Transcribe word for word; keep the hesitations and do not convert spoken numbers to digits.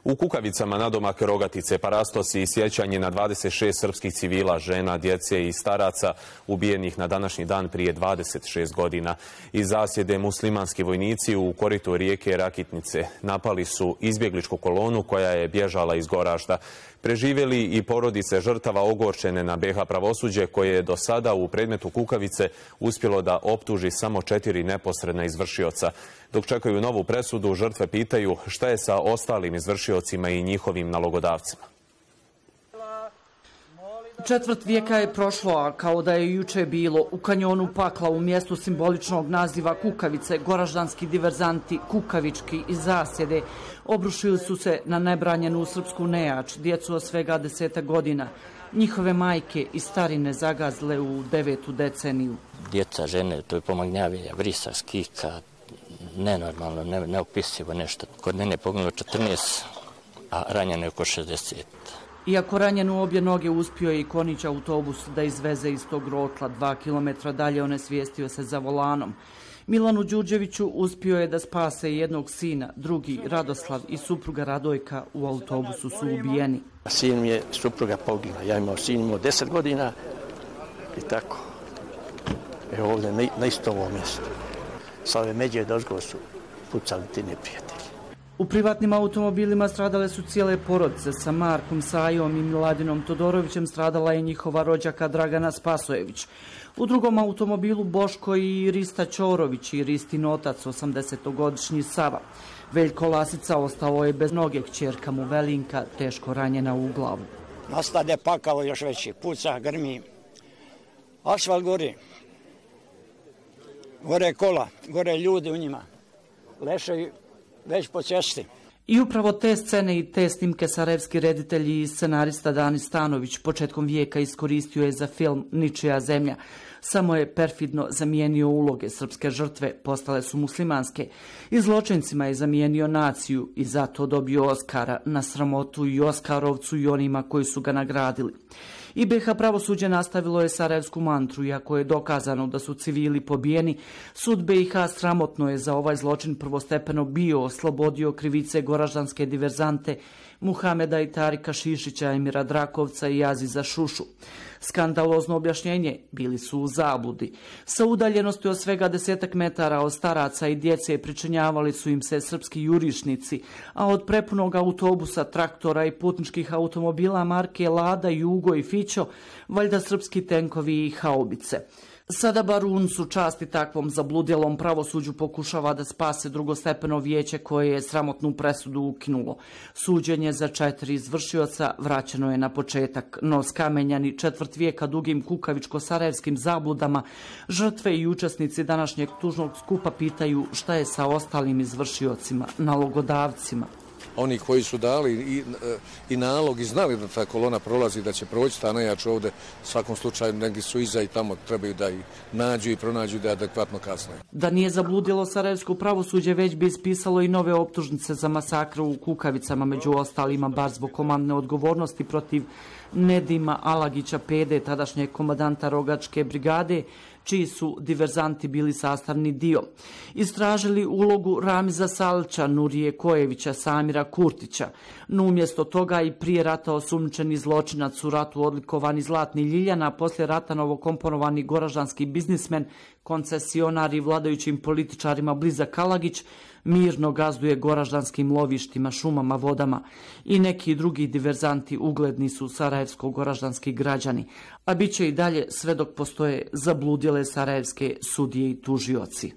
U Kukavicama nadomak Rogatice, parastosi i sjećanje na dvadeset šest srpskih civila, žena, djece i staraca ubijenih na današnji dan prije dvadeset šest godina. Iz zasjede muslimanski vojnici u koritu rijeke Rakitnice napali su izbjegličku kolonu koja je bježala iz Goražda. Preživjeli i porodice žrtava ogorčene na be ha pravosuđe koje je do sada u predmetu Kukavice uspjelo da optuži samo četiri neposredna izvršioca. Dok čekaju novu presudu, žrtve pitaju šta je sa ostalim izvršiocima i njihovim nalogodavcima. Četvrt vijeka je prošlo, a kao da je juče bilo, u kanjonu pakla u mjestu simboličnog naziva Kukavice, goraždanski diverzanti, kukavički i zasjede, obrušili su se na nebranjenu srpsku nejač, djecu od svega deseta godina. Njihove majke i starine zagazile u devetu deceniju. Djeca, žene, to je pomagnjavija, vrisa, skika, nenormalno, ne, neopisivo nešto. Kod mene je poginulo četrnaest, a ranjeno je oko šezdeset. Iako ranjen u obje noge, uspio je i Konić autobus da izveze iz tog rotla. Dva kilometra dalje onesvijestio se za volanom. Milanu Đurđeviću uspio je da spase jednog sina, drugi Radoslav i supruga Radojka u autobusu su ubijeni. Sin mi je supruga poginula, ja imao sin, imao deset godina i tako. Evo ovdje na, na isto ovo mjesto. Sa ove međe dozgo su pucali ti neprijatelji. U privatnim automobilima stradale su cijele porodice. Sa Markom Sajom i Miladinom Todorovićem stradala je njihova rođaka Dragana Spasojević. U drugom automobilu Boško i Rista Ćorović i Ristin otac, osamdesetogodišnji Sava. Veljko Lasica ostao je bez noge, kćerka mu Velinka teško ranjena u glavu. Nastade pakao još veći, puca, grmi. Asfalt gori. Gore kola, gore ljudi u njima. Leše već po cesti. I upravo te scene i te snimke sarajevski reditelj i scenarista Dani Stanović početkom vijeka iskoristio je za film Ničija zemlja. Samo je perfidno zamijenio uloge. Srpske žrtve postale su muslimanske. I zločincima je zamijenio naciju i zato dobio Oskara, na sramotu i Oskarovcu i onima koji su ga nagradili. I be ha pravosuđe nastavilo je sarajevsku mantru, iako je dokazano da su civili pobijeni. Sud be ha sramotno je za ovaj zločin prvostepeno bio oslobodio krivice goraždanske diverzante Muhameda i Tarika Šišića, Emira Drakovca i Aziza Šušu. Skandalozno objašnjenje, bili su u zabludi. Sa udaljenosti od svega desetak metara od staraca i djece pričinjavali su im se srpski jurišnici, a od prepunog autobusa, traktora i putničkih automobila marke Lada, Jugo i Fićo, valjda srpski tenkovi i haubice. Sada bar uncu časti takvom zabludjelom pravosuđu pokušava da spase drugostepeno vijeće koje je sramotnu presudu ukinulo. Suđenje za četiri izvršioca vraćeno je na početak, no skamenjani četvrt vijeka dugim kukavičko-sarajevskim zabludama, žrtve i učesnici današnjeg tužnog skupa pitaju šta je sa ostalim izvršiocima, nalogodavcima. Oni koji su dali i, i nalog i znali da ta kolona prolazi, da će proći ta najjača ovdje, u svakom slučaju negdje su iza i tamo trebaju da ih nađu i pronađu da je adekvatno kasnije. Da nije zabludilo sarajevsko pravosuđe, već bi ispisalo i nove optužnice za masakr u Kukavicama, među ostalima bar zbog komandne odgovornosti protiv Nedima Alagića Pede, tadašnjeg komandanta Rogačke brigade, čiji su diverzanti bili sastavni dio. Istražili ulogu Ramiza Salča, Nurije Kojevića, Samira Kurtića. No umjesto toga i prije rata osumnjičeni zločinac, u ratu odlikovani Zlatni Ljiljana, poslije rata novokomponovani goraždanski biznismen, koncesionar i vladajućim političarima blizak Alagić, mirno gazduje goraždanskim lovištima, šumama, vodama. I neki drugi diverzanti ugledni su sarajevsko-goraždanski građani, a bit će i dalje sve dok postoje zabludjele sarajevske sudije i tužioci.